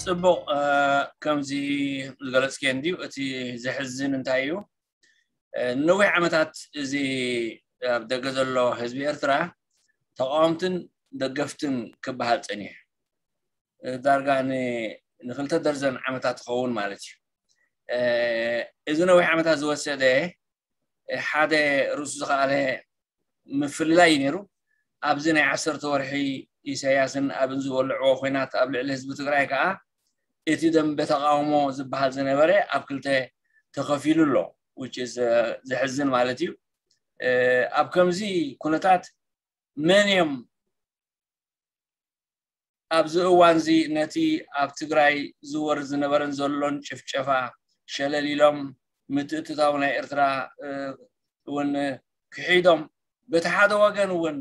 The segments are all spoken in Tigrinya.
ጽቡቕ። ከምዚ ዝገለጽክዮ እንድዩ። እቲ ዘሕዝን እንታይ እዩ? ንነዊሕ ዓመታት እዚ ኣብ ደገ ዘሎ ህዝቢ ኤርትራ ተቃወምትን ደገፍትን ክበሃል ጸኒሑ፣ ዳርጋ ንክልተ ደርዘን ዓመታት ትኸውን ማለት እዩ። እዚ ነዊሕ ዓመታት ዝወሰደ ሓደ ርእሱ ዝኸኣለ ምፍልላይ እዩ ነይሩ። ኣብዚ ናይ ዓሰርተ ወርሒ ኢሳያስን ኣብን ዝበልዕዎ ኮይናት ኣብ ልዕሊ ህዝቢ ትግራይ ከዓ እቲ ደንበ ተቃውሞ ዝበሃል ዝነበረ ኣብ ክልተ ተኸፊሉ ኣሎ። ዘሕዝን ማለት እዩ። ኣብ ከምዚ ኩነታት መን እዮም ኣብዚ እዋን እዚ ነቲ ኣብ ትግራይ ዝወርድ ዝነበረን ዘሎን ጭፍጨፋ ሸለል ኢሎም ምትእትታው ናይ ኤርትራ እውን ክሒዶም፣ በቲ ሓደ ወገን እውን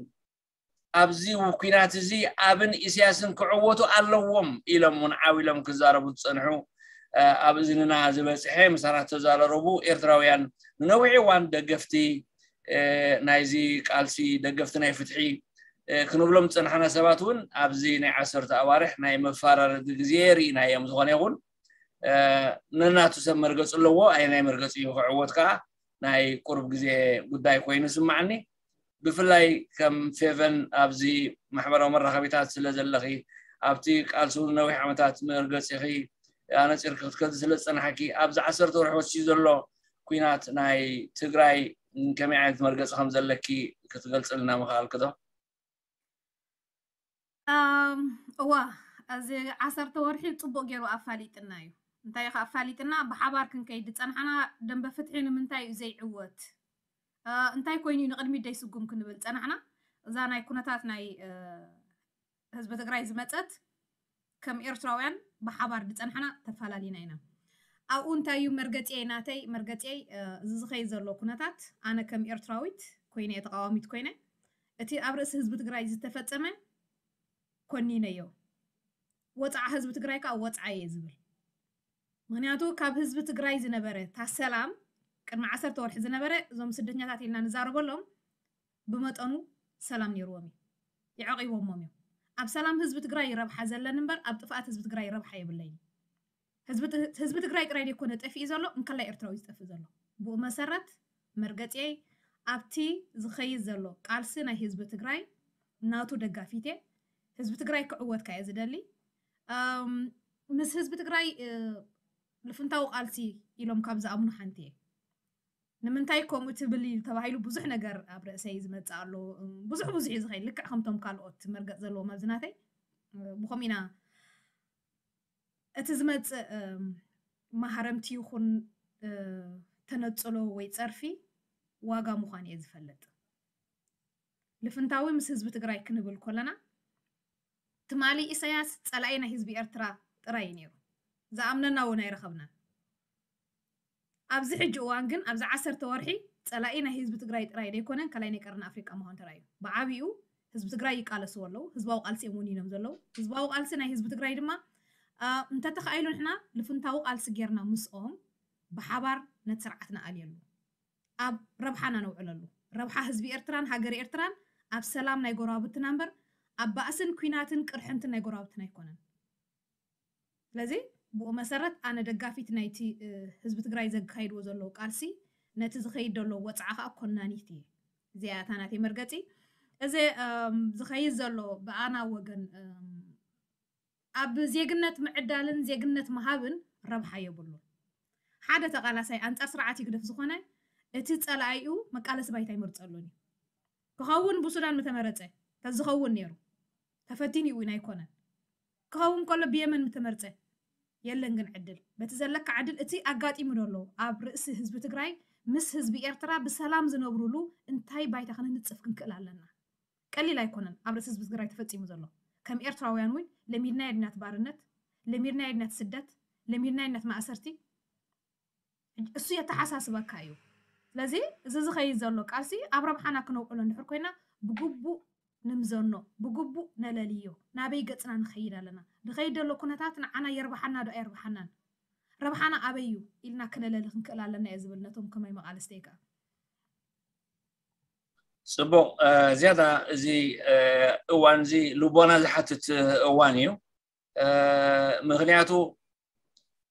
ኣብዚ ኩናት እዚ ኣብን ኢሳያስን ክዕወቱ ኣለዎም ኢሎም እውን ዓው ኢሎም ክዛረቡ ዝጸንሑ፣ ኣብ እዝንና ዝበጽሐ ምሳና ዝተዛረረቡ ኤርትራውያን ንነዊሕ እዋን ደገፍቲ ናይዚ ቃልሲ፣ ደገፍቲ ናይ ፍትሒ ክንብሎም ዝጸናሕና ሰባት እውን ኣብዚ ናይ ዓሰርተ ኣዋርሕ ናይ መፈራረዲ ግዜ ርኢናዮም። ዝኾነ ይኹን ነናቱ ሰብ መርገጺ ኣለዎ። ኣየናይ መርገጺ እዩ ክዕወት ከዓ ናይ ቁሩብ ግዜ ጉዳይ ኮይኑ ይስማዓኒ። ብፍላይ ከም ፌቨን ኣብዚ ማሕበራዊ መራኸቢታት ስለ ዘለኺ፣ ኣብቲ ቃልሲ እውን ነዊሕ ዓመታት መርገጺኺ ኣነጺርኪ ክትከዲ ስለ ዝጸናሕኪ፣ ኣብዚ ዓሰርተ ወርሒ ወሲዩ ዘሎ ኩናት ናይ ትግራይ ከመይ ዓይነት መርገጺ ከም ዘለኪ ክትገልጽልና ምኽኣልኪ ዶ? እዋ፣ እዚ ዓሰርተ ወርሒ ጽቡቕ ገይሩ ኣፋሊጥና እዩ። እንታይ እዩ ኣፋሊጥና? ብሓባር ክንከይድ ዝጸናሕና ደንበ ፍትሒ ንምንታይ እዩ ዘይዕወት? እንታይ ኮይኑ እዩ ንቕድሚት ደይስጉም ክንብል ጸናሕና? እዛ ናይ ኩነታት ናይ ህዝቢ ትግራይ ዝመጸት ከም ኤርትራውያን ብሓባር ዝጸናሕና ተፋላሊና ኢና። ኣብኡ እንታይ እዩ መርገጺየይ ናተይ? መርገጺየይ እዚ ዝኸይድ ዘሎ ኩነታት ኣነ ከም ኤርትራዊት ኮይነ፣ ተቃዋሚት ኮይነ፣ እቲ ኣብ ርእሲ ህዝቢ ትግራይ ዝተፈጸመ ኮኒነዮ። ወጻዓ ህዝቢ ትግራይ ከዓ ወጻዓ እየ ዝብል። ምክንያቱ ካብ ህዝቢ ትግራይ ዝነበረ እታ ሰላም፣ ቅድሚ ዓሰርተ ወርሒ ዝነበረ፣ እዞም ስደተኛታት ኢልና ንዛረበሎም ብመጠኑ ሰላም ነይርዎም እዩ። የዕቂቦሞም እዮም። ኣብ ሰላም ህዝቢ ትግራይ ረብሓ ዘለኒ እምበር ኣብ ጥፍኣት ህዝቢ ትግራይ ረብሓ የብለይን። ህዝቢ ትግራይ ጥራይ ዘይኮነ ጠፊኡ ዘሎ፣ እንከላይ ኤርትራዊ ዝጠፍእ ዘሎ። ብኡ መሰረት መርገጺየይ ኣብቲ ዝኸይድ ዘሎ ቃልሲ ናይ ህዝቢ ትግራይ ናቱ ደጋፊት እየ። ህዝቢ ትግራይ ክዕወት ከኣ እየ ዝደሊ። ምስ ህዝቢ ትግራይ ልፍንታዊ ቃልሲ ኢሎም ካብ ዝኣምኑ ሓንቲ እየ። ንምንታይ ከምኡ ትብል እዩ ተባሂሉ ብዙሕ ነገር ኣብ ርእሰይ ዝመጽእ ኣሎ። ብዙሕ ብዙሕ እዩ ዝኸይድ፣ ልክዕ ከምቶም ካልኦት መርገጽ ዘለዎም ኣብዚ ናተይ። ብኸምኡ ኢና እቲ ዝመጽእ ማህረምቲ ይኹን ተነጽሎ ወይ ጸርፊ ዋጋ ምዃኑ እየ ዝፈልጥ። ልፍንታዊ ምስ ህዝቢ ትግራይ ክንብል ከለና፣ ትማሊ ኢሳያስ ጸላኢ ናይ ህዝቢ ኤርትራ ጥራይ እዩ ነይሩ። ዝኣምነና እውን ኣይረኸብናን። ኣብዚ ሕጂ እዋን ግን ኣብዚ ዓሰርተ ወርሒ ጸላኢ ናይ ህዝቢ ትግራይ ጥራይ ዘይኮነ፣ ካልኣይ ናይ ቀርኒ ኣፍሪቃ ምዃኑ ተራእዩ። ብዓቢኡ ህዝቢ ትግራይ ይቃለስዎ ኣለዉ። ህዝባዊ ቃልሲ እዮም ወኒኖም ዘለዉ። ህዝባዊ ቃልሲ ናይ ህዝቢ ትግራይ ድማ እንተተኻኢሉ ንሕና ልፍንታዊ ቃልሲ ጌርና ምስኦም ብሓባር ነቲ ስርዓት ንኣልየሉ፣ ኣብ ረብሓና ነውዕለሉ። ረብሓ ህዝቢ ኤርትራን ሃገር ኤርትራን ኣብ ሰላም ናይ ጎረባብትና እምበር ኣብ ባእስን ኲናትን ቅርሕንትን ናይ ጎረባብትና ኣይኮነን። ስለዚ ብኡ መሰረት ኣነ ደጋፊት ናይቲ ህዝቢ ትግራይ ዘካይድዎ ዘለዉ ቃልሲ፣ ነቲ ዝኸይድ ዘሎ ወፅዓ ከዓ ኮናኒት እየ። እዚኣ እታ ናተይ መርገፂ። እዚ ዝኸይድ ዘሎ ብኣና ወገን ኣብ ዜግነት ምዕዳልን ዜግነት ምሃብን ረብሓ የብሉን። ሓደ ተቓላሳይ ኣንጻር ስርዓት ህግደፍ ዝኾነ እቲ ጸላኢኡ መቃለሲ ባይታ ይመርጸሉን እዩ። ክኸውን ብሱዳን ምተመረጸ ተዝኸውን ነይሩ። ተፈቲኑ እዩ ኣይኮነን። ክኸውን ከሎ ብየመን ምተመርጸ የለን ግን ዕድል። በቲ ዘለካ ዕድል እቲ ኣጋጢሙ ዘሎ ኣብ ርእሲ ህዝቢ ትግራይ ምስ ህዝቢ ኤርትራ ብሰላም ዝነብሩሉ እንታይ ባይታ ክንንጽፍ ክንክእል ኣለና። ቀሊል ኣይኮነን ኣብ ርእሲ ህዝቢ ትግራይ ተፈጺሙ ዘሎ። ከም ኤርትራውያን እውን ለሚድናዮ ዲና እቲ ባርነት፣ ለሚድናዮ ዲና እቲ ስደት፣ ለሚድናዮ ዲና እቲ ማእሰርቲ። እሱ የተሓሳስበካ እዩ። ስለዚ እዚ ዝኸይድ ዘሎ ቃልሲ ኣብ ረብሓና ክነውዕሎ እንድሕር ኮይና ብግቡእ ንምዘኖ፣ ብግቡእ ነለልዮ። ናበይ ገጽና ንኸይድ ኣለና? ዝኸይድ ዘሎ ኩነታት ንዓና የርብሓና ዶ ኣየርብሓናን? ረብሓና ኣበይ እዩ ኢልና ክነለሊ ክንክእል ኣለና እየ ዝብል ነቶም ከማይ መቓልስተይ ከኣ። ጽቡቕ። ዝያዳ እዚ እዋን እዚ ልቦና ዝሓትት እዋን እዩ። ምክንያቱ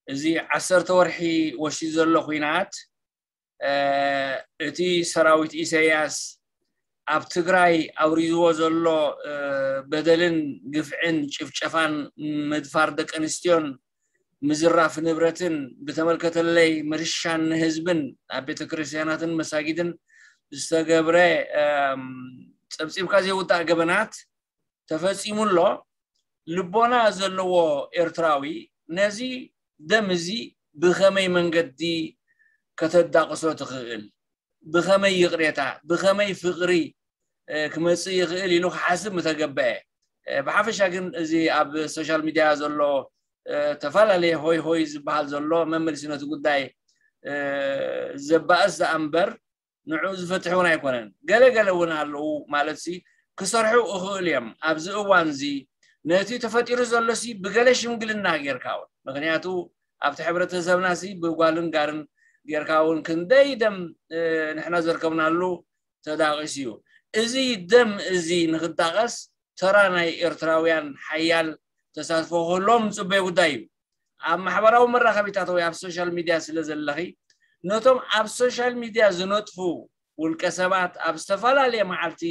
እዚ ዓሰርተ ወርሒ ወሲዱ ዘሎ ኹናት እቲ ሰራዊት ኢሳያስ ኣብ ትግራይ ኣውሪዝዎ ዘሎ በደልን ግፍዕን ጭፍጨፋን ምድፋር ደቂ ኣንስትዮን ምዝራፍ ንብረትን ብተመልከተለይ ምርሻን ንህዝብን ኣብ ቤተክርስትያናትን መሳጊድን ዝተገብረ ጸብጺብካ ዘይውዳእ ገበናት ተፈጺሙ ኣሎ። ልቦና ዘለዎ ኤርትራዊ ነዚ ደም እዚ ብኸመይ መንገዲ ከተዳቕሶ ትኽእል? ብኸመይ ይቕሬታ፣ ብኸመይ ፍቕሪ ክመጽእ ይኽእል ኢሉ ክሓስብ ምተገበአ። ብሓፈሻ ግን እዚ ኣብ ሶሻል ሚድያ ዘሎ ተፈላለየ ሆይ ሆይ ዝበሃል ዘሎ መመልሲ ነቲ ጉዳይ ዘባእስ ደኣ እምበር ንዑ ዝፈትሕ እውን ኣይኮነን። ገለ ገለ እውን ኣለዉ ማለት ሲ ክሰርሑ እኽእል እዮም። ኣብዚ እዋን እዚ ነቲ ተፈጢሩ ዘሎ ሲ ብገለ ሽምግልና ጌርካ እውን፣ ምክንያቱ ኣብቲ ሕብረተሰብና ሲ ብጓልን ጋርን ጌርካ እውን ክንደይ ደም ንሕና ዘርከብናሉ ተዳቂሱ እዩ። እዚ ደም እዚ ንክዳቀስ ተራ ናይ ኤርትራውያን ሓያል ተሳትፎ ክህልዎም ዝፅበዮ ጉዳይ እዩ። ኣብ ማሕበራዊ መራኸቢታት ወይ ኣብ ሶሻል ሚድያ ስለ ዘለኺ ነቶም ኣብ ሶሻል ሚድያ ዝነጥፉ ውልቀ ሰባት ኣብ ዝተፈላለየ መዓልቲ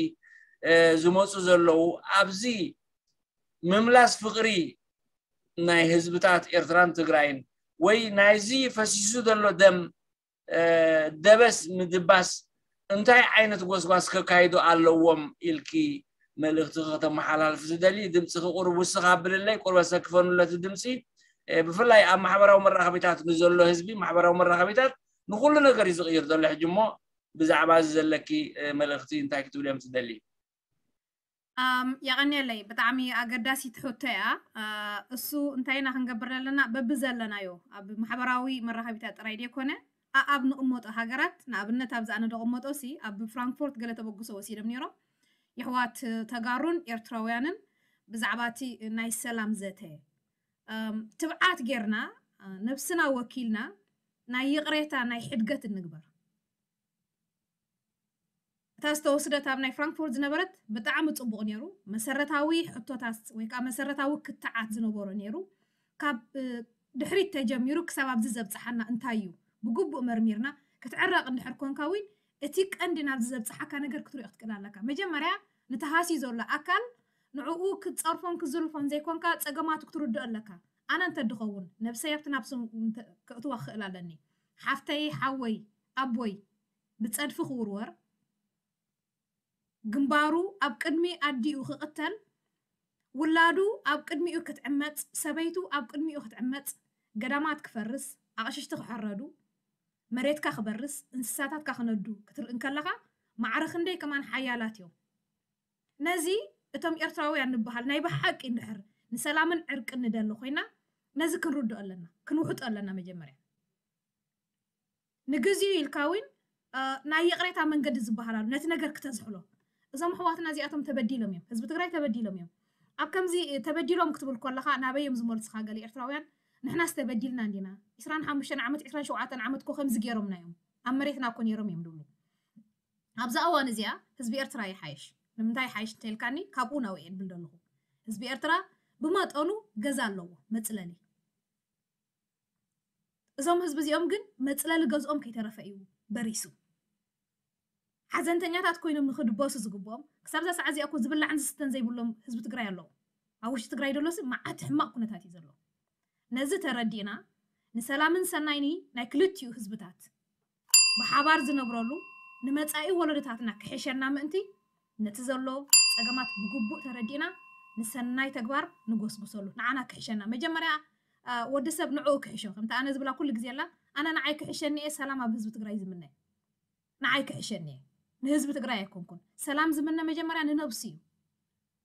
ዝመፁ ዘለዉ ኣብዚ ምምላስ ፍቕሪ ናይ ህዝብታት ኤርትራን ትግራይን ወይ ናይዚ ፈሲሱ ዘሎ ደም ደበስ ምድባስ እንታይ ዓይነት ጎስጓስ ከካይዱ ኣለዎም ኢልኪ መልእኽቲ ከተመሓላልፍ ዝደሊ ድምፂ ክቁርብ ውስኽ ኣብልለይ ቁርበ ሰክፈኑለቲ ድምፂ ብፍላይ ኣብ ማሕበራዊ መራኸቢታት ንዘሎ ህዝቢ ማሕበራዊ መራኸቢታት ንኩሉ ነገር እዩ ዝቕይር ዘሎ ሕጂ እሞ ብዛዕባ እዚ ዘለኪ መልእኽቲ እንታይ ክትብል እዮም ትደሊ የቐንየለይ ብጣዕሚ ኣገዳሲት ሕቶ እያ እሱ እንታይ ኢና ክንገብር ዘለና በብዘለናዮ ኣብ ማሕበራዊ መራኸቢታት ጥራይ ደይኮነ ኣኣብ ንቕመጦ ሃገራት ንኣብነት ኣብዚ ኣነ ደቕመጦ ሲ ኣብ ፍራንክፎርት ገለ ተበግሶ ወሲዶም ነይሮም የሕዋት ተጋሩን ኤርትራውያንን ብዛዕባ እቲ ናይ ሰላም ዘተ ትብዓት ጌርና ነብስና ወኪልና ናይ ይቕሬታ ናይ ሕድገት እንግበር እታ ዝተወስደት ኣብ ናይ ፍራንክፎርት ዝነበረት ብጣዕሚ ፅቡቕ ነይሩ መሰረታዊ ሕቶታት ወይ ከዓ መሰረታዊ ክትዓት ዝነበሮ ነይሩ ካብ ድሕሪት ተጀሚሩ ክሳብ ኣብዚ ዘብፅሓና እንታይ እዩ ብግቡእ መርሚርና ክትዕረቕ እንድሕር ኮንካ እውን እቲ ቀንዲ ናብዚ ዘብፅሓካ ነገር ክትሪኦ ክትክእል ኣለካ መጀመርያ ንተሃሲ ዘሎ ኣካል ንዕኡ ክትፀርፎን ክዝልፎን ዘይኮንካ ፀገማቱ ክትርድኦ ኣለካ ኣነ እንተድኸውን ነብሰይ ኣብቲ ናብ ስም ከእትዋ ክኽእል ኣለኒ ሓፍተይ ሓወይ ኣቦይ ብጸድፊ ክውርወር፣ ግንባሩ ኣብ ቅድሚ ኣዲኡ ክቕተል፣ ውላዱ ኣብ ቅድሚኡ ክትዕመጽ፣ ሰበይቱ ኣብ ቅድሚኡ ክትዕመጽ፣ ገዳማት ክፈርስ፣ ኣቕሽሽቲ ክሕረዱ፣ መሬትካ ክበርስ፣ እንስሳታትካ ክነዱ ክትርኢ እንከለኻ ማዕረ ክንደይ ከማን ሓያላት እዮም። ነዚ እቶም ኤርትራውያን ንበሃል ናይ ብሓቂ እንድሕር ንሰላምን ዕርቅን ንደሊ ኮይና ነዚ ክንርድኦ ኣለና፣ ክንውሕጦ ኣለና መጀመርያ። ንግዚኡ ኢልካ እውን ናይ ይቕሬታ መንገዲ ዝበሃል ኣሎ ነቲ ነገር ክተዝሕሎ እዞም ኣሕዋትና እዚኣቶም ተበዲሎም እዮም ህዝቢ ትግራይ ተበዲሎም እዮም ኣብ ከምዚ ተበዲሎም ክትብል ከለኻ ናበይ እዮም ዝመልስኻ ገለ ኤርትራውያን ንሕናስ ተበዲልና እንዲና ዕስራን ሓሙሽተን ዓመት ዕስራን ሸውዓተን ዓመት እኮ ከምዚ ገይሮምና እዮም ኣብ መሬትና እኮ ነይሮም እዮም ድብሉ ኣብዛ እዋን እዚኣ ህዝቢ ኤርትራ ይሓይሽ ንምንታይ ይሓይሽ እንተልካኒ ካብኡ ናብኡ እየ ድብል ዘለኹ ህዝቢ ኤርትራ ብመጠኑ ገዛ ኣለዎ መፅለሊ እዞም ህዝቢ እዚኦም ግን መፅለሊ ገዝኦም ከይተረፈ እዩ በሪሱ። ሓዘንተኛታት ኮይኖም ንክድበሱ ዝግብኦም ክሳብ እዛ ሰዓት እዚኣ እኮ ዝብላዕን ዝስተን ዘይብሎም ህዝቢ ትግራይ ኣለዉ። ኣብ ውሽጢ ትግራይ ደሎሲ መዓት ሕማቕ ኩነታት እዩ ዘሎ። ነዚ ተረዲእና ንሰላምን ሰናይኒ ናይ ክልቲኡ ህዝብታት ብሓባር ዝነብረሉ ንመጻኢ ወለዶታትና ክሕሸና ምእንቲ ነቲ ዘሎ ጸገማት ብግቡእ ተረዲእና ንሰናይ ተግባር ንጎስጉሰሉ። ንዓና ክሕሸና መጀመርያ ወዲ ሰብ ንዕኡ ክሕሾ ከምቲ ኣነ ዝብላ ኩሉ ግዜ ኣላ ኣነ ንዓይ ክሕሸኒ እየ ሰላም ኣብ ህዝቢ ትግራይ ዝምነ ንዓይ ክሕሸኒ እየ ንህዝቢ ትግራይ ኣይኮንኩን ሰላም ዝምነ መጀመርያ ንነብሱ እዩ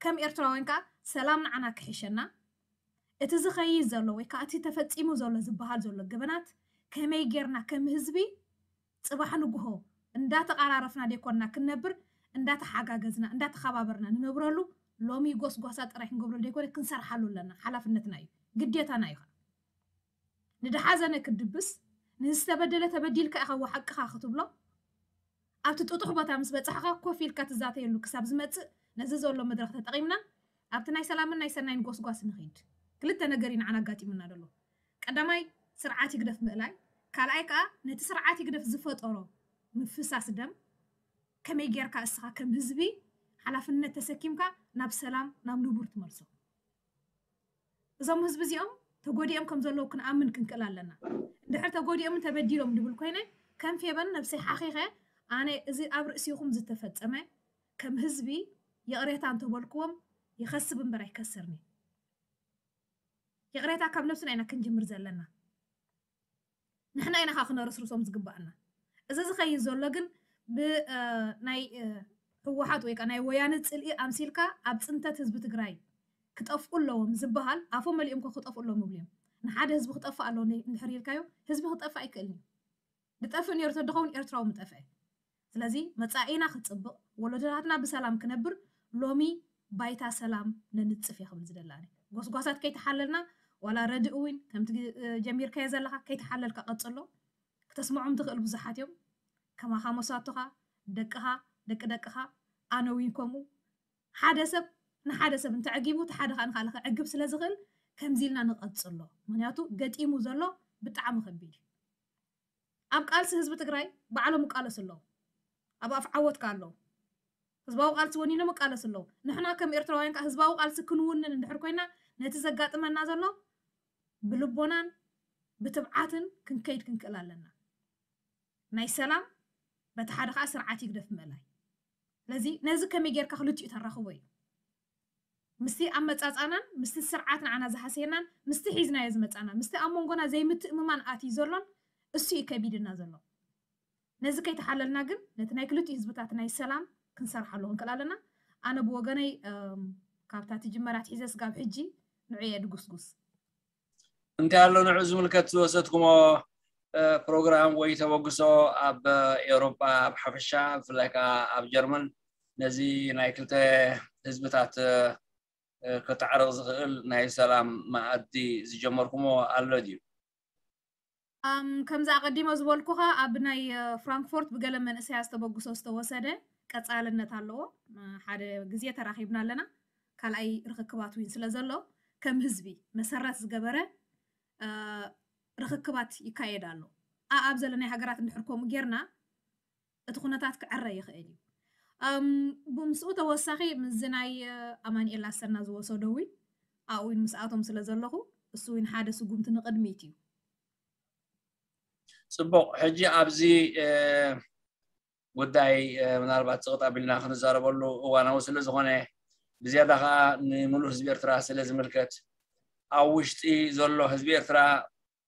ከም ኤርትራውያን ከዓ ሰላም ንዓና ክሕሸና እቲ ዝኸይድ ዘሎ ወይ ከዓ እቲ ተፈፂሙ ዘሎ ዝበሃል ዘሎ ገበናት ከመይ ጌርና ከም ህዝቢ ፅባሕ ንግሆ እንዳተቓራረፍና ደይኮንና ክንነብር እንዳተሓጋገዝና እንዳተኸባበርና ንነብረሉ ሎሚ ጎስጓሳ ጥራይ ክንገብረሉ ደይኮነ ክንሰርሓሉ ኣለና ሓላፍነትና እዩ ግዴታና እዩ ከዓ ንደሓዘነ ክትድብስ ንዝተበደለ ተበዲልካ ኢኻ ወሓቅኻ ክትብሎ ኣብቲ ጥጡሕ ቦታ ምስ በፃሕኻ ኮፍ ኢልካ ትዛተየሉ ክሳብ ዝመፅእ ነዚ ዘሎ መድረኽ ተጠቒምና ኣብቲ ናይ ሰላምን ናይ ሰናይን ጎስጓስ ንኺድ ክልተ ነገር እዩ ንዓና ኣጋጢሙና ዘሎ። ቀዳማይ ስርዓት ይግደፍ ምእላይ፣ ካልኣይ ከዓ ነቲ ስርዓት ይግደፍ ዝፈጠሮ ምፍሳስ ደም ከመይ ጌርካ እስኻ ከም ህዝቢ ሓላፍነት ተሰኪምካ ናብ ሰላም ናብ ንቡር ትመልሶ። እዞም ህዝቢ እዚኦም ተጎዲኦም ከም ዘለዉ ክንኣምን ክንክእል ኣለና። እንድሕር ተጎዲኦምን ተበዲሎም ድብል ኮይነ ከም ፌበን ነብሰይ ሓኺኸ ኣነ እዚ ኣብ ርእሲኹም ዝተፈጸመ ከም ህዝቢ ይቕሬታ እንተበልክዎም ይኸስብ እምበር ኣይከስርን እዩ። ይቕሬታ ካብ ነብስና ኢና ክንጅምር ዘለና። ንሕና ኢና ከዓ ክነረስርሶም ዝግባኣና። እዚ ዝኸይድ ዘሎ ግን ብናይ ህወሓት ወይ ከዓ ናይ ወያነ ፅልኢ ኣምሲልካ ኣብ ፅንተት ህዝቢ ትግራይ ክጠፍኡ ኣለዎም ዝበሃል ኣፎም መሊኦም እኮ ክጠፍኡ ኣለዎም ይብሉ እዮም። ንሓደ ህዝቢ ክጠፍእ ኣለዎ እንድሕር ኢልካዮ ህዝቢ ክጠፍእ ኣይክእልን እዩ። ዝጠፍእ ነይሩ ተድኸውን ኤርትራዊ ምጠፍአ። ስለዚ መጻኢና ክጽብቕ ወለዶታትና ብሰላም ክነብር ሎሚ ባይታ ሰላም ነንጽፍ እየ ክብል ዝደላኒ። ጎስጓሳት ከይተሓለልና ዋላ ረድእ እውን ከምቲ ጀሚርካዮ ዘለኻ ከይተሓለልካ ቀጽሎ። ክተስምዖም ትኽእል ብዙሓት እዮም። ከማኻ መሳቶኻ፣ ደቅኻ፣ ደቂ ደቅኻ፣ ኣነ እውን ከምኡ። ሓደ ሰብ ንሓደ ሰብ እንተዕጊቡ እቲ ሓደ ከዓ ንካልእ ከዕግብ ስለ ዝኽእል ከምዚ ኢልና ንቐጽሎ። ምክንያቱ ገጢሙ ዘሎ ብጣዕሚ ከቢድ እዩ። ኣብ ቃልሲ ህዝቢ ትግራይ ባዕሎም ይቃለሱ ኣለዉ። ኣብ ኣፍ ዓወትካ ኣለዉ። ህዝባዊ ቃልሲ ወኒኖም ይቃለሱ ኣለዉ። ንሕና ከም ኤርትራውያን ከዓ ህዝባዊ ቃልሲ ክንውንን እንድሕር ኮይና ነቲ ዘጋጥመና ዘሎ ብልቦናን ብትብዓትን ክንከይድ ክንክእል ኣለና። ናይ ሰላም በቲ ሓደ ከዓ ስርዓት ይግደፍ ምእላይ። ስለዚ ነዚ ከመይ ጌርካ ክልቲኡ ተራኽቦ እዩ። ምስቲ ኣመጻጻናን ምስቲ ስርዓት ንዓና ዝሃሰየናን ምስቲ ሒዝናዮ ዝመጻና ምስቲ ኣብ መንጎና ዘይምትእምማን ኣትዩ ዘሎን እሱ እዩ ከቢድና ዘሎ። ነዚ ከይተሓለልና ግን ነቲ ናይ ክልቲኡ ህዝብታት ናይ ሰላም ክንሰርሓሉ ክንክእል ኣለና። ኣነ ብወገነይ እም፣ ካብታ ትጅመራ ትሒዘ ስጋብ ሕጂ ንዑ እየ ድጉስጉስ። እንታይ ኣሎ ንዑ ዝምልከት ዝወሰድኩሞ እ፣ ፕሮግራም ወይ ተበግሶ ኣብ ኤውሮጳ ኣብ ሓፈሻ ብፍላይ ከዓ ኣብ ጀርመን ነዚ ናይ ክልተ ህዝብታት እ፣ እ፣ ከተዕርቕ ዝኽእል ናይ ሰላም መኣዲ ዝጀመርኩሞ ኣሎ ድዩ? ኣም፣ ከምዚ ኣቐዲሞ ዝበልኩኻ ኣብ ናይ እ፣ ፍራንክፎርት ብገለ መንእሰያ ዝተበግሶ ዝተወሰደ ቀጻልነት ኣለዎ። እ፣ ሓደ ግዜ ተራኺብና ኣለና። ካልኣይ ርኽክባት እውን ስለ ዘሎ ከም ህዝቢ መሰረት ዝገበረ እ፣ ርኽክባት ይካየድ ኣሎ። ኣኣብ ዘለናይ ሃገራት እንድሕር ከምኡ ጌርና እቲ ኩነታት ክዕረ ይኽእል እዩ። እም፣ ብምስኡ ተወሳኺ ምስዚ ናይ እ፣ ኣማኑኤል ኣሰና ዝወሰዶ እውን ኣብኡ እውን ምስኣቶም ስለ ዘለኹ እሱ እውን ሓደ ስጉምቲ ንቕድሚት እዩ። ፅቡቕ። ሕጂ ኣብዚ እ፣ ጉዳይ እ፣ ምናልባት ፅቕጥ ኣቢልና ክንዛረበሉ እዋናዊ ስለ ዝኾነ ብዝያዳ ከዓ ንምሉእ ህዝቢ ኤርትራ ስለ ዝምልከት ኣብ ውሽጢ ዘሎ ህዝቢ ኤርትራ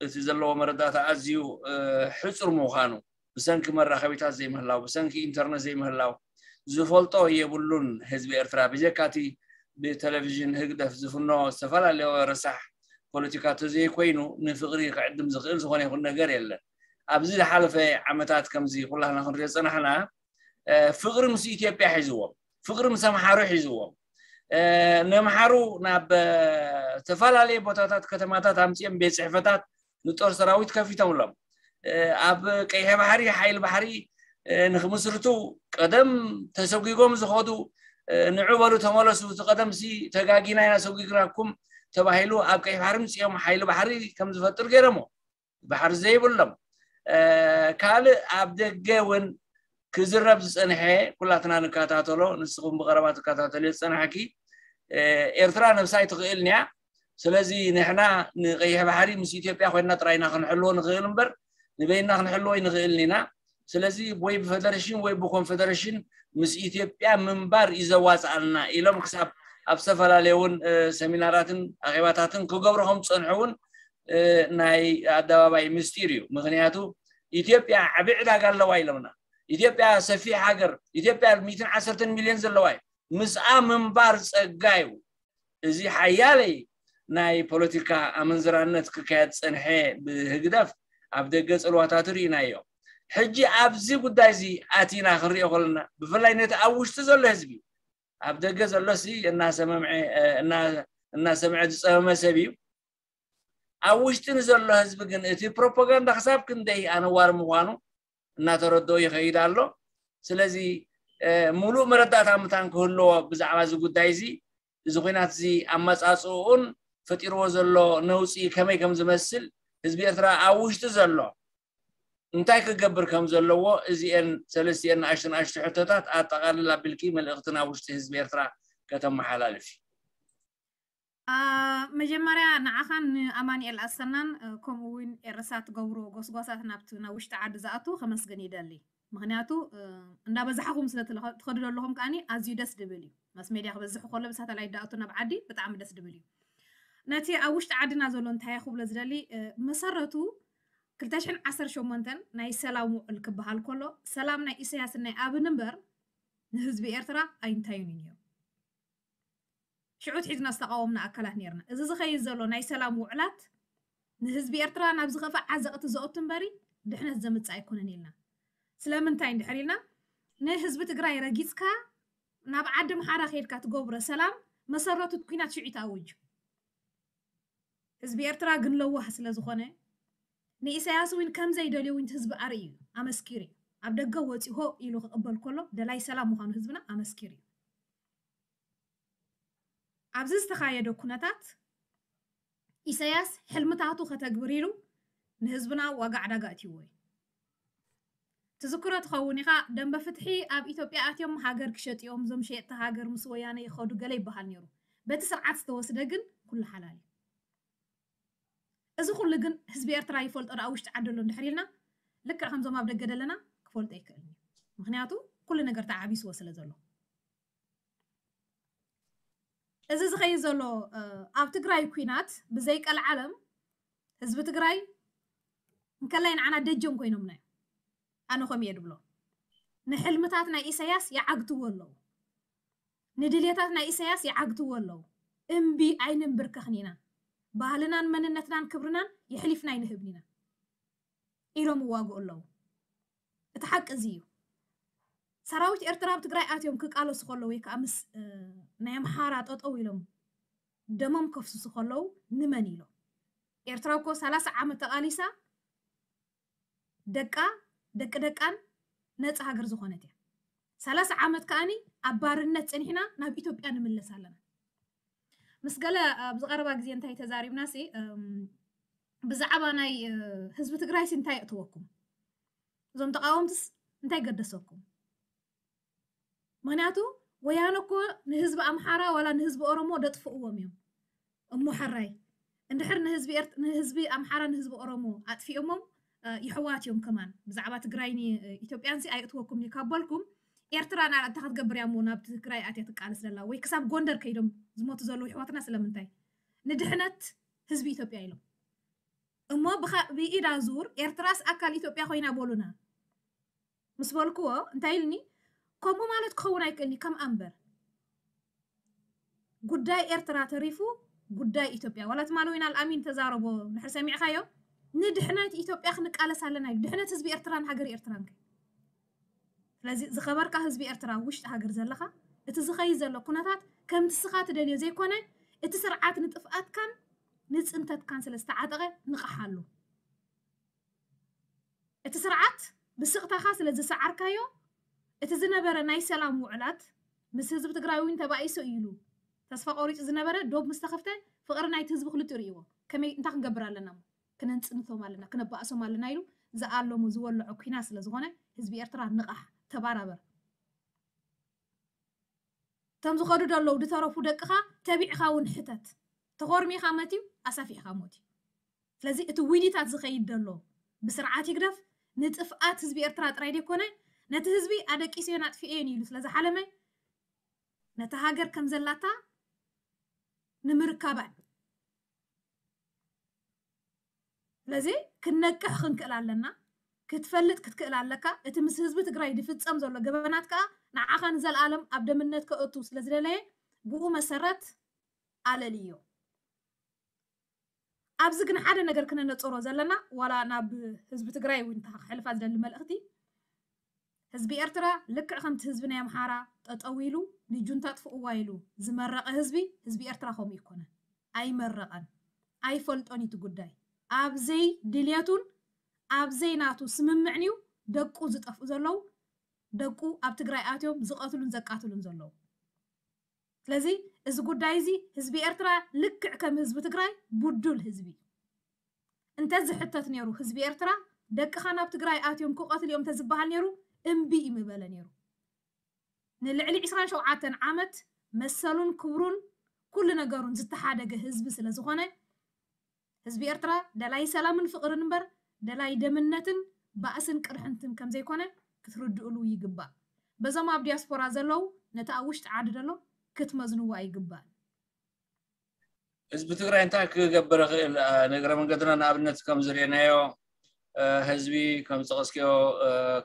እቲ ዘለዎ መረዳእታ ኣዝዩ እ፣ ሕጹር ምዃኑ ብሰንኪ መራኸቢታት ዘይምህላው ብሰንኪ ኢንተርነት ዘይምህላው ዝፈልጦ የብሉን። ህዝቢ ኤርትራ ብጀካቲ ብቴሌቪዥን ህግደፍ ዝፍኖ ዝተፈላለየ ረሳሕ ፖለቲካ ተዘይኮይኑ ንፍቕሪ ክዕድም ዝኽእል ዝኾነ ይኹን ነገር የለን። ኣብዚ ዝሓለፈ ዓመታት ከምዚ ኩላህና ክንሪኦ ዝጸናሕና እ፣ ፍቕሪ ምስ ኢትዮጵያ ሒዝዎም፣ ፍቕሪ ምስ ኣምሓሩ ሒዝዎም፣ እ፣ ነምሓሩ ናብ እ፣ ዝተፈላለየ ቦታታት ከተማታት ኣምፅኦም ቤት ፅሕፈታት ንጦር ሰራዊት ከፊቶምሎም እ፣ ኣብ ቀይሐ ባሕሪ ሓይሊ ባሕሪ እ፣ ንክምስርቱ ቀደም ተሰጒጎም ዝኸዱ እ፣ ንዑ በሉ ተመለሱ እቲ ቀደም ሲ ተጋጊና ኢና ሰጒግናኩም ተባሂሉ ኣብ ቀይሕ ባሕሪ ምፅኦም ሓይሊ ባሕሪ ከም ዝፈጥር ገይሮሞ ባሕሪ ዘይብሎም እ፣ ካልእ ኣብ ደገ እውን ክዝረብ ዝፀንሐ ኩላትና ንከታተሎ ንስኹም ብቀረባ ትከታተልዮ ዝፀናሕኪ እ፣ ኤርትራ ነብሳ ኣይትኽእልን እያ። ስለዚ ንሕና ንቀይሕ ባሕሪ ምስ ኢትዮጵያ ኮይና ጥራይና ክንሕልዎ ንኽእል እምበር ንበይና ክንሕልዎ ኣይንኽእልን ኢና። ስለዚ ወይ ብፈደረሽን ወይ ብኮንፈደረሽን ምስ ኢትዮጵያ ምንባር እዩ ዘዋፅኣልና ኢሎም ክሳብ ኣብ ዝተፈላለየ እውን እ፣ ሰሚናራትን ኣኼባታትን ክገብሩ ከም ዝፀንሑ እውን እ፣ ናይ ኣደባባይ ምስጢር እዩ። ምክንያቱ ኢትዮጵያ ዓብዪ ዕዳጋ ኣለዋ ኢሎምና። ኢትዮጵያ ሰፊሕ ሃገር፣ ኢትዮጵያ ሚእትን ዓሰርተን ሚልዮን ዘለዋ እዩ። ምስኣ ምንባር ጸጋ እዩ። እዚ ሓያለይ ናይ ፖለቲካ ኣመንዝራነት ክካየድ ጸንሐ ብህግደፍ ኣብ ደገ ጽልዋታቱ ርኢናዮ። ሕጂ ኣብዚ ጉዳይ እዚ ኣቲና ክንሪኦ ከለና ብፍላይ ነቲ ኣብ ውሽጢ ዘሎ ህዝቢ ኣብ ደገ ዘሎሲ እናሰመምዐ እናሰምዐ ዝጸመመ ሰብ እዩ። ኣብ ውሽጢ ንዘሎ ህዝቢ ግን እቲ ፕሮፓጋንዳ ክሳብ ክንደይ ኣነዋሪ ምዃኑ እናተረድኦ ይኸይድ ኣሎ። ስለዚ ሙሉእ መረዳእታ ምታን ክህልዎ ብዛዕባ እዚ ጉዳይ እዚ እዚ ኩናት እዚ ኣመፃፅኡን ፈጢርዎ ዘሎ ነውፂ ከመይ ከም ዝመስል ህዝቢ ኤርትራ ኣብ ውሽጢ ዘሎ እንታይ ክገብር ከም ዘለዎ እዚኤን ሰለስቲኤን ንኣሽቱ ንኣሽቱ ሕቶታት ኣጠቓልል ኣቢልኪ መልእኽቲ ናብ ውሽጢ ህዝቢ ኤርትራ ከተመሓላልፊ። መጀመርያ ንዓኻን ንኣማንኤል ኣሰናን ከምኡ እውን ኤረሳ ትገብሮ ጎስጓሳት ናብቲ ናብ ውሽጢ ዓዲ ዝኣቱ ከመስግን ይደሊ። ምክንያቱ እንዳበዛሕኹም ስለ ትኸዱ ዘለኹም ከዓኒ ኣዝዩ ደስ ድብል እዩ። ማስ ሜድያ ክበዝሕ ከሎ ብሳተላይት ዳኣቱ ናብ ዓዲ ብጣዕሚ ደስ ድብል እዩ። ነቲ ኣብ ውሽጢ ዓድና ዘሎ እንታይ ክብሎ ዝደሊ፣ መሰረቱ ክልተ ሽሕን ዓሰርተ ሸሞንተን ናይ ሰላም ውዕል ክበሃል ከሎ ሰላም ናይ ኢሳያስን ናይ ኣብን እምበር ንህዝቢ ኤርትራ ኣይንታዩን እዩ ነይሩ። ሽዑ ትሒዝና ዝተቃወምና ኣካላት ነርና። እዚ ዝኸይድ ዘሎ ናይ ሰላም ውዕላት ንህዝቢ ኤርትራ ናብ ዝኸፍእ ዓዘቕቲ ዘእቱ እምበሪ ድሕነት ዘምጽእ ኣይኮነን ኢልና። ስለምንታይ እንድሕር ኢልና ንህዝቢ ትግራይ ረጊጽካ ናብ ዓዲ ኣምሓራ ከይድካ ትገብሮ ሰላም መሰረቱ ኩናት ሽዑ ተኣውጅ። ህዝቢ ኤርትራ ግን ለዋህ ስለ ዝኾነ ንኢሳያስ እውን ከም ዘይደልዮ እውን ህዝቢ ኣርእዩ እዩ፣ ኣመስኪሩ እዩ። ኣብ ደገ ወፂ ሆ ኢሉ ክቕበል ከሎ ደላይ ሰላም ምዃኑ ህዝብና ኣመስኪሩ እዩ። ኣብዚ ዝተኻየደ ኩነታት ኢሳያስ ሕልምታቱ ከተግብር ኢሉ ንህዝብና ዋጋ ዕዳጋ እትይዎ እዩ። ትዝክሮ ትኸውን ኢኻ፣ ደንበ ፍትሒ ኣብ ኢትዮጵያ ኣትዮም ሃገር ክሸጥዮም፣ እዞም ሸየጥቲ ሃገር ምስ ወያነ ይኸዱ ገለ ይበሃል ነይሩ። በቲ ስርዓት ዝተወስደ ግን ኩሉ ሓላል እዩ። እዚ ኩሉ ግን ህዝቢ ኤርትራ ይፈልጦ ደኣ ውሽጢ ዓዲ ኣሎ እንድሕር ኢልና ልክዕ ከምዞም ኣብ ደገ ደለና ክፈልጦ ኣይክእልን እዩ። ምክንያቱ ኩሉ ነገር ተዓቢስዎ ስለ ዘሎ። እዚ ዝኸይድ ዘሎ ኣብ ትግራይ ኩናት ብዘይ ቀልዓለም ህዝቢ ትግራይ እንከላይ ንዓና ደጀን ኮይኖምና እዮም። ኣነ ከምኡ እየ ድብሎ። ንሕልምታት ናይ ኢሳያስ ይዓግትዎ ኣለዉ። ንድልየታት ናይ ኢሳያስ ይዓግትዎ ኣለዉ። እምቢ ኣይንንብርከኽን ኢና። ባህልናን መንነትናን ክብርናን የሕሊፍና ኣይንህብን ኢና ኢሎም ይዋግኡ ኣለዉ። እቲ ሓቂ እዚ እዩ። ሰራዊት ኤርትራ ኣብ ትግራይ ኣትዮም ክቃለሱ ከለዉ ወይ ከዓ ምስ ናይ ኣምሓራ ጠጠው ኢሎም ደሞም ከፍስሱ ከለዉ ንመን ኢሎም? ኤርትራ እኮ ሰላሳ ዓመት ተቓሊሳ ደቃ ደቂ ደቃን ነፃ ሃገር ዝኾነት እያ። ሰላሳ ዓመት ከኣኒ ኣብ ባርነት ፀኒሕና ናብ ኢትዮጵያ ንምለስ ኣለና። ምስ ገለ ኣብዚ ቀረባ ግዜ እንታይ ተዛሪብና ሲ ብዛዕባ ናይ ህዝቢ ትግራይ ሲ እንታይ የእትወኩም? እዞም ተቃወምትስ እንታይ ገደሰኩም? ምክንያቱ ወያነ እኮ ንህዝቢ ኣምሓራ ዋላ ንህዝቢ ኦሮሞ ደጥፍእዎም እዮም። እሞ ሕራይ እንድሕር ንህዝቢ ኣምሓራ ንህዝቢ ኦሮሞ ኣጥፊኦሞም ይሕዋት እዮም ከማን ብዛዕባ ትግራይን ኢትዮጵያን ሲ ኣይእትወኩም እዩ ካብ በልኩም ኤርትራ ናላ እንታይ ክትገብር እያ እሞ ናብ ትግራይ ኣትያ ትቃለስ ዘላ ወይ ክሳብ ጎንደር ከይዶም ዝሞቱ ዘለዉ ይሕዋትና ስለምንታይ ንድሕነት ህዝቢ ኢትዮጵያ ኢሎም እሞ ብኢዳ ዙር ኤርትራስ ኣካል ኢትዮጵያ ኮይና በሉና ምስ በልክዎ እንታይ ኢልኒ ከምኡ ማለት ክኸውን ኣይክእልኒ ከም ኣንበር ጉዳይ ኤርትራ ተሪፉ ጉዳይ ኢትዮጵያ ዋላ ትማሊ ወይን ኣልኣሚን ተዛረቦ ድሕር ሰሚዕካዮ ንድሕነት ኢትዮጵያ ክንቃለስ ኣለና ኢሉ ድሕነት ህዝቢ ኤርትራን ሃገር ኤርትራን ከ ስለዚ ዝኸበርካ ህዝቢ ኤርትራ ውሽጢ ሃገር ዘለኻ እቲ ዝኸይ ዘሎ ኩነታት ከምቲ ስኻ ትደልዮ ዘይኮነ እቲ ስርዓት ንጥፍኣትካን ንፅንተትካን ስለ ዝተዓጠቐ ንቕሓሉ እቲ ስርዓት ብስቕታኻ ስለ ዝሰዓርካዮ እቲ ዝነበረ ናይ ሰላም ውዕላት ምስ ህዝቢ ትግራይ እውን ተባኢሱ እዩ ኢሉ ተስፋ ቆሪፁ ዝነበረ ዶብ ምስ ተኸፍተ ፍቕሪ ናይቲ ህዝቢ ክልቲኡ ርእይዎ ከመይ እንታይ ክንገብር ኣለና እሞ ክነንፅንቶም ኣለና ክነባእሶም ኣለና ኢሉ ዝኣለሞ ዝወለዖ ኩናት ስለ ዝኾነ ህዝቢ ኤርትራ ንቓሕ ተባራበር እቶም ዝኸዱ ደለዉ ዝተረፉ ደቅኻ ተቢዕኻ እውን ሕተት ተኾርሚኻ መትዩ ኣሳፊሕካ ሞት እዩ ስለዚ እቲ ዊኒታት ዝኸይድ ደሎ ብስርዓት ይግደፍ ንጥፍኣት ህዝቢ ኤርትራ ጥራይ ደይኮነ ነቲ ህዝቢ ኣደቂሰዮን ኣጥፊኤዮን ኢሉ ስለ ዝሓለመ ነቲ ሃገር ከም ዘላታ ንምርካባን ስለዚ ክንነቅሕ ክንክእል ኣለና ክትፈልጥ ክትክእል ኣለካ እቲ ምስ ህዝቢ ትግራይ ዝፍፀም ዘሎ ገበናት ከዓ ንዓኻ ንዘለኣለም ኣብ ደምነት ከእቱ ስለ ዝደለየ ብኡ መሰረት ኣለልዮ ኣብዚ ግን ሓደ ነገር ክነነፅሮ ዘለና ዋላ ናብ ህዝቢ ትግራይ እውን ክሕልፋ ዝደሊ መልእኽቲ ህዝቢ ኤርትራ ልክዕ ከምቲ ህዝቢ ናይ ኣምሓራ ጠጠው ኢሉ ንጁንታ ጥፍእዋ ኢሉ ዝመረቐ ህዝቢ ህዝቢ ኤርትራ ከምኡ ይኮነን ኣይመረቐን ኣይፈልጦን እዩ እቲ ጉዳይ ኣብዘይ ድልየቱን ኣብዘይ ናቱ ስምምዕን እዩ ደቁ ዝጠፍኡ ዘለዉ ደቁ ኣብ ትግራይ ኣትዮም ዝቐትሉን ዘቃትሉን ዘለዉ ስለዚ እዚ ጉዳይ እዚ ህዝቢ ኤርትራ ልክዕ ከም ህዝቢ ትግራይ ቡዱል ህዝቢ እንተዝሕተት ነይሩ፣ ህዝቢ ኤርትራ ደቅኻ ናብ ትግራይ ኣትዮም ክቐትል እዮም እንተዝበሃል ነይሩ፣ እምቢ እዩ ምበለ ነይሩ። ንልዕሊ ዕስራን ሸውዓተን ዓመት መሰሉን ክብሩን ኩሉ ነገሩን ዝተሓደገ ህዝቢ ስለ ዝኾነ፣ ህዝቢ ኤርትራ ደላይ ሰላምን ፍቕርን እምበር ደላይ ደምነትን ባእስን ቅርሕንትን ከም ዘይኮነ ክትርድእሉ ይግባእ። በዞም ኣብ ዲያስፖራ ዘለዉ ነቲ ኣብ ውሽጢ ዓዲ ዘሎ ክትመዝንዎ ኣይግባእን። ህዝቢ ትግራይ እንታይ ክገብር ይኽእል? ንእግረ መንገድና ንኣብነት ከም ዝርኤናዮ ህዝቢ ከም ዝጠቐስክዮ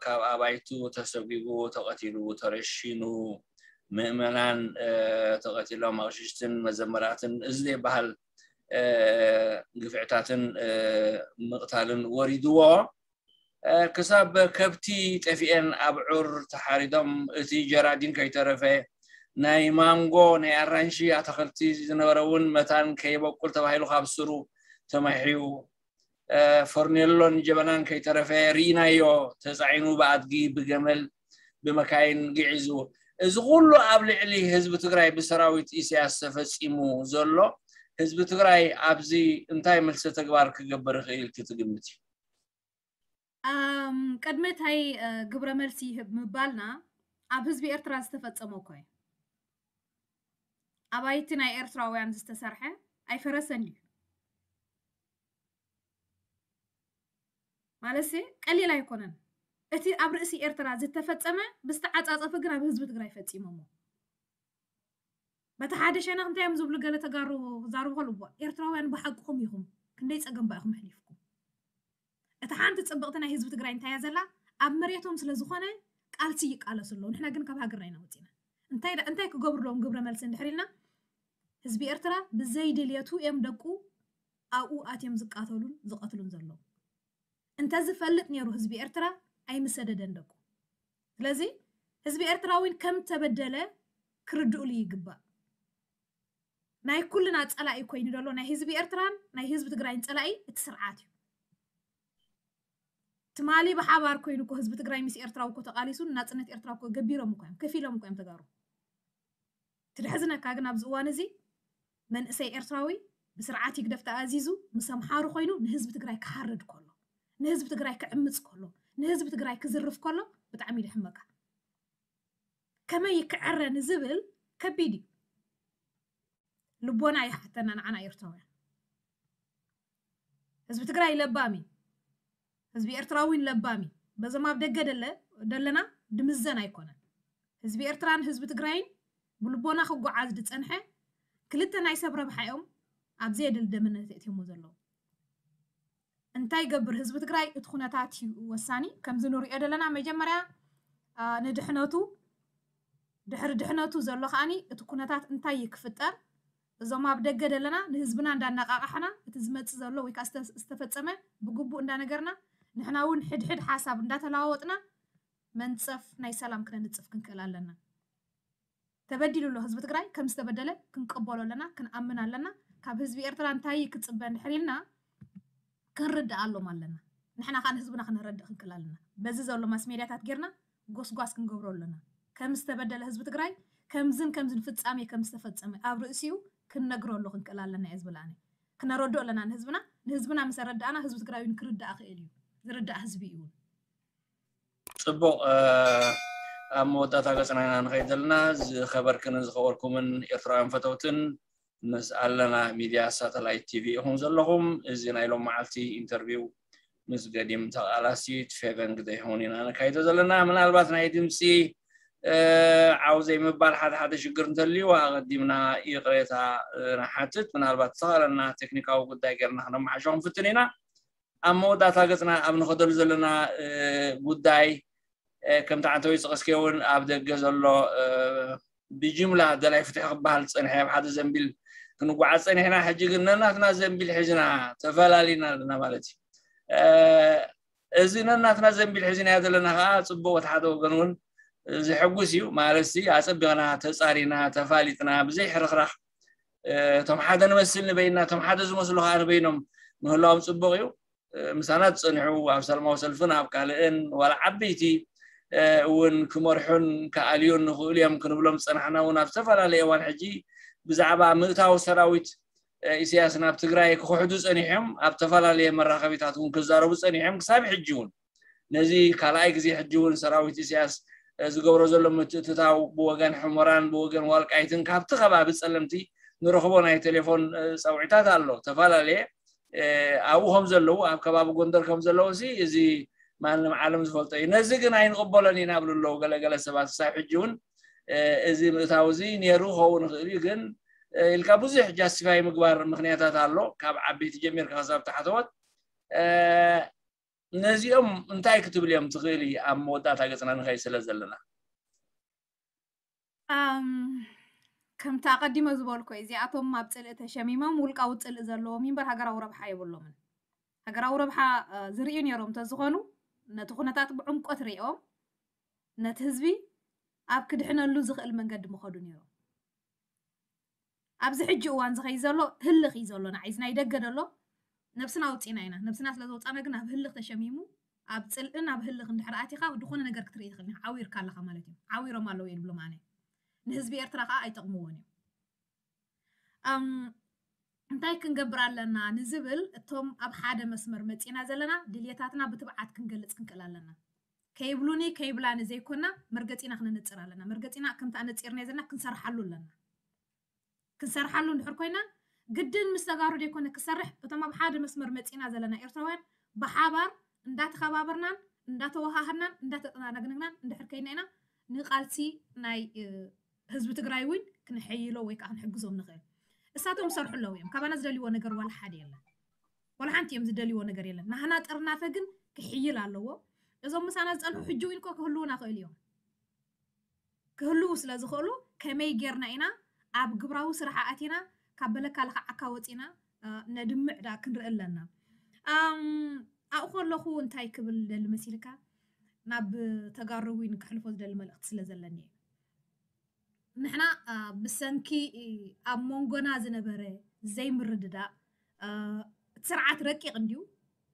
ካብ ኣባይቱ ተሰጒጉ፣ ተቐቲሉ፣ ተረሺኑ፣ ምእመናን ተቐቲሎም፣ ኣቕሽሽትን መዘመራትን እዚ ዘይበሃል ግፍዕታትን ምቕታልን ወሪድዎ። ክሳብ ከብቲ ጠፊኤን ኣብዑር ተሓሪዶም፣ እቲ ጀራዲን ከይተረፈ፣ ናይ ማንጎ ናይ ኣራንሺ ኣታኽልቲ ዝነበረ እውን መታን ከይበቁል ተባሂሉ ካብ ስሩ ተማሕዩ፣ ፈርኔሎን ጀበናን ከይተረፈ ርኢናዮ፣ ተፃዒኑ ብኣድጊ ብገመል ብመካይን ግዒዙ። እዚ ኩሉ ኣብ ልዕሊ ህዝቢ ትግራይ ብሰራዊት ኢሳያስ ተፈፂሙ ዘሎ፣ ህዝቢ ትግራይ ኣብዚ እንታይ መልሰ ተግባር ክገብር ይኽእል ኢልኪ ትግምቲ? ቅድሚ እታይ ግብረ መልሲ ይህብ ምባልና፣ ኣብ ህዝቢ ኤርትራ ዝተፈፀመ እኮ እዩ። ኣባይቲ ናይ ኤርትራውያን ዝተሰርሐ ኣይፈረሰን ድዩ? ማለት ቀሊል ኣይኮነን። እቲ ኣብ ርእሲ ኤርትራ ዝተፈፀመ ብዝተዓፃፀፈ ግን ኣብ ህዝቢ ትግራይ ፈፂሞሞ። በቲ ሓደ ሸነኽ እንታይ እዮም ዝብሉ ገለ ተጋሩ ክዛረቡ ከለዉ፣ "እዋ፣ ኤርትራውያን ብሓቅኹም ኢኹም፣ ክንደይ ጸገም ባኢኹም ኣሕሊፍኩም?" እታ ሓንቲ ጽብቕቲ ናይ ህዝቢ ትግራይ እንታይ እያ ዘላ? ኣብ መሬቶም ስለ ዝኾነ ቃልሲ ይቃለሱ ኣለዉ። ንሕና ግን ካብ ሃገርና ኢና ወጺና። እንታይ ዳ-፣ እንታይ ክገብሩ ኣለዎም ግብረ መልሲ እንድሕር ኢልና፣ ህዝቢ ኤርትራ ብዘይ ድልየቱ እዮም ደቁ ኣብኡ ኣትዮም ዝቃተሉን ዝቐትሉን ዘለዉ። እንተዝፈልጥ ነይሩ ህዝቢ ኤርትራ ኣይምሰደደን ደቁ። ስለዚ ህዝቢ ኤርትራ እውን ከም ተበደለ ክርድኡሉ ይግባእ። ናይ ኩልና ጸላኢ ኮይኑ ዘሎ ናይ ህዝቢ ኤርትራን ናይ ህዝቢ ትግራይን ጸላኢ እቲ ስርዓት እዩ። ትማሊ ብሓባር ኮይኑ እኮ ህዝቢ ትግራይ ምስ ኤርትራዊ እኮ ተቃሊሱ ናጽነት ኤርትራ እኮ ገቢሮም እኮ እዮም፣ ከፊሎም እኮ እዮም ተጋሩ። ትደሕዝነካ ግን ኣብዚ እዋን እዚ መንእሰይ ኤርትራዊ ብስርዓት ይግደፍ ተኣዚዙ ምስ ኣምሓሩ ኮይኑ ንህዝቢ ትግራይ ክሓርድ ከሎ፣ ንህዝቢ ትግራይ ክዕምጽ ከሎ፣ ንህዝቢ ትግራይ ክዝርፍ ከሎ ብጣዕሚ ይድሕመካ። ከመይ ይክዕረ ንዝብል ከቢድ እዩ። ልቦና ይሓተና ንዓና ኤርትራውያን። ህዝቢ ትግራይ ለባም እዩ። ህዝቢ ኤርትራ እውን ለባም እዩ። በዞም ኣብ ደገ ደለ-፣ ደለና ድምዘን ኣይኮነን። ህዝቢ ኤርትራን ህዝቢ ትግራይን ብልቦና ክጓዓዝ ዝጸንሐ ክልተ ናይ ሰብ ረብሓ እዮም ኣብ ዘየድሊ ደምነት የእትዮሞ ዘለዉ። እንታይ ይገብር ህዝቢ ትግራይ? እቲ ኩነታት እዩ ወሳኒ። ከምዚ ንሪኦ ዘለና መጀመርያ፣ አ፣ ንድሕነቱ፣ ድሕሪ ድሕነቱ ዘሎ ከኣኒ እቲ ኩነታት እንታይ እዩ ክፍጠር? እዞም ኣብ ደገ ዘለና ንህዝብና እንዳነቃቃሕና እቲ ዝመጽእ ዘሎ ወይ ከዓ ዝተ-፣ ዝተፈጸመ ብግቡእ እንዳነገርና፣ ንሕና እውን ሕድሕድ ሓሳብ እንዳተለዋወጥና መንጸፍ ናይ ሰላም ክነንጽፍ ክንክእል ኣለና። ተበዲሉ ኣሎ ህዝቢ ትግራይ፣ ከም ዝተበደለ ክንቀበሎ ኣለና፣ ክንኣምን ኣለና። ካብ ህዝቢ ኤርትራ እንታይ ክጽበ እንድሕር ኢልና ክንርድኣሎም ኣለና። ንሕና ከዓ ንህዝብና ክነረድእ ክንክእል ኣለና። በዚ ዘሎ ማስ ሜድያታት ጌርና ጎስጓስ ክንገብሮ ኣለና። ከም ዝተበደለ ህዝቢ ትግራይ ከምዝን ከምዝን ፍጻሜ ከም ዝተፈጸመ ኣብ ርእሲኡ ክንነግረሉ ክንክእል ኣለና እየ ዝብል ኣነ። ክነረድኦ ኣለና ንህዝብና። ንህዝብና ምስ ኣረዳእና ህዝቢ ትግራይ እውን ክርዳእ ክእል እዩ። ዝርዳእ ህዝቢ እዩ እውን። ጽቡቕ፣ እ፣ ኣብ መወዳእታ ገጽና ኢና ንኸይድ ዘለና። ዝኸበርክንን ዝኸበርኩምን ኤርትራውያን ፈተውትን፣ ምስ ኣለና ሚድያ ሳተላይት ቲቪ ኢኹም ዘለኹም። እዚ ናይ ሎም መዓልቲ ኢንተርቪው ምስ ገዲም ተቓላሲት ፌቨን ግደይሆን ኢና ነካይዶ ዘለና። ምናልባት ናይ ድምፂ፣ እ፣ ዓው ዘይምባል ሓደ ሓደ ሽግር እንተልዩ ኣቐዲምና ይቕሬታ፣ እ፣ ንሓትት። ምናልባት ዝተኻለና ቴክኒካዊ ጉዳይ ጌርና ክነመሓሾ ክንፍትን ኢና። ኣብ መወዳእታ ገጽና ኣብ ንኸደሉ ዘለና፣ እ፣ ጉዳይ፣ እ፣ ከምቲ ዓንተወይ ዝጠቐስክዮ እውን ኣብ ደገ ዘሎ፣ እ፣ ብጅምላ ደላይ ፍትሒ ክበሃል ዝጸንሐ ኣብ ሓደ ዘንቢል ክንጓዓዝ ጸኒሕና፣ ሕጂ ግን ነናትና ዘንቢል ሒዝና ተፈላሊና ኣለና ማለት እዩ። እ፣ እዚ ነናትና ዘንቢል ሒዝናዮ ዘለና ከዓ ጽቡቕ፣ እቲ ሓደ ወገን እውን ዘሐጉስ እዩ። ማለትሲ ኣጸቢቕና ተጻሪና ተፋሊጥና ብዘይ ሕርኽራኽ፣ እ፣ እቶም ሓደ ንመስል ንበይንና፣ እቶም ሓደ ዝመስሉ ከዓ ንበይኖም ምህላዎም ጽቡቕ እዩ። እ፣ ምሳና ዝጸንሑ ኣብ ሰላማዊ ሰልፍን ኣብ ካልእን ዋላ ዓበይቲ፣ እ፣ እውን ክመርሑን ክኣልዩን ንኽእሉ እዮም ክንብሎም ዝጸናሕና እውን ኣብ ዝተፈላለየ እዋን ሕጂ ብዛዕባ ምእታው ሰራዊት ኢሳያስ ናብ ትግራይ ክኽሕዱ ጸኒሖም፣ ኣብ ተፈላለየ መራኸቢታት እውን ክዛረቡ ጸኒሖም። ክሳብ ሕጂ እውን ነዚ ካልኣይ ግዜ ሕጂ እውን ሰራዊት ኢሳያስ ዝገብሮ ዘሎ ምትእትታው ብወገን ሕሞራን ብወገን ዋልቃይትን ካብቲ ከባቢ ጸለምቲ ንረኽቦ ናይ ቴሌፎን ጸውዒታት ኣሎ። ተፈላለየ ኣብኡ ከም ዘለዉ፣ ኣብ ከባቢ ጎንደር ከም ዘለዉ ሲ እዚ ማንም ዓለም ዝፈልጦ እዩ። ነዚ ግን ኣይንቕበሎን ኢና ብሉ ኣለዉ ገለገለ ሰባት። ክሳብ ሕጂ እውን እዚ ምእታው እዚ ነይሩ ክኸውን ይኽእል እዩ፣ ግን ኢልካ ብዙሕ ጃስቲፋይ ምግባር ምኽንያታት ኣሎ፣ ካብ ዓበይቲ ጀሚርካ ክሳብ ታሕተዎት። ነዚኦም እንታይ ክትብል እዮም ትኽእል? ኣብ መወዳእታ ገጽና ንኸይ ስለ ዘለና ከምቲ ኣቐዲመ ዝበልኮ፣ እዚኣቶም ኣብ ጽልኢ ተሸሚሞም ውልቃዊ ጽልኢ ዘለዎም እምበር ሃገራዊ ረብሓ የብሎምን። ሃገራዊ ረብሓ ዝርእዩ ነይሮም እንተዝኾኑ፣ ነቲ ኩነታት ብዕምቆት ርእዮም ነቲ ህዝቢ ኣብ ክድሕነሉ ዝኽእል መንገዲ ምኸዱ ነይሮም። ኣብዚ ሕጂ እዋን ዝኸይ ዘሎ ህልኽ እዩ ዘሎ። ንዓይ እዚ ናይ ደገ ደሎ ነብስና ኣውፂና ኢና። ነብስና ስለ ዘውፃና ግን ኣብ ህልኽ ተሸሚሙ፣ ኣብ ፅልእን ኣብ ህልኽ እንድሕር ኣቲኻ ዝኾነ ነገር ክትርኢ ትኽእል። ዓዊርካ ኣለኻ ማለት እዩ። ዓዊሮም ኣለዉ እየ ዝብሎም ኣነ። ንህዝቢ ኤርትራ ከዓ ኣይጠቕምዎን እዮም። እንታይ ክንገብር ኣለና ንዝብል፣ እቶም ኣብ ሓደ መስመር መፂና ዘለና ድልየታትና ብትብዓት ክንገልፅ ክንክእል ኣለና። ከይብሉኒ ከይብላኒ ዘይኮና መርገፂና ክነነፅር ኣለና። መርገፂና ከምቲ ኣነፂርናዮ ዘለና ክንሰርሓሉ ኣለና። ክንሰርሓሉ እንድሕር ኮይና፣ ግድን ምስ ተጋሩ ዘይኮነ ክሰርሕ፣ እቶም ኣብ ሓደ መስመር መፂና ዘለና ኤርትራውያን ብሓባር እንዳተኸባበርናን እንዳተወሃሃድናን እንዳተጠናነግናን እንድሕር ከይና ኢና ንቃልሲ ናይ ህዝቢ ትግራይ እውን ክንሕይሎ ወይ ከዓ ክንሕግዞም ንኽእል። እሳቶም ዝሰርሑ ኣለዉ እዮም። ካባና ዝደልይዎ ነገር ዋላ ሓደ የለን። ዋላ ሓንቲ እዮም ዝደልይዎ ነገር የለን። ናህና ጥርናፈ ግን ክሕይል ኣለዎ። እዞም ምሳና ዝፀንሑ ሕጂ እውን እኮ ክህልዉና ክእል እዮም። ክህልዉ ስለ ዝኽእሉ ከመይ ጌርና ኢና ኣብ ግብራዊ ስራሕ ኣቲና ካብ በለካ ልኽዓካ ወፂና ነድምዕ ዳ ክንርኢ ኣለና። ኣብኡ ከለኹ እንታይ ክብል ደሊ መሲልካ፣ ናብ ተጋሩ እውን ክሕልፎ ዝደሊ መልእኽቲ ስለ ዘለኒ እየ። ንሕና ብሰንኪ ኣብ መንጎና ዝነበረ ዘይምርድዳእ፣ እቲ ስርዓት ረቂቕ እንድዩ፣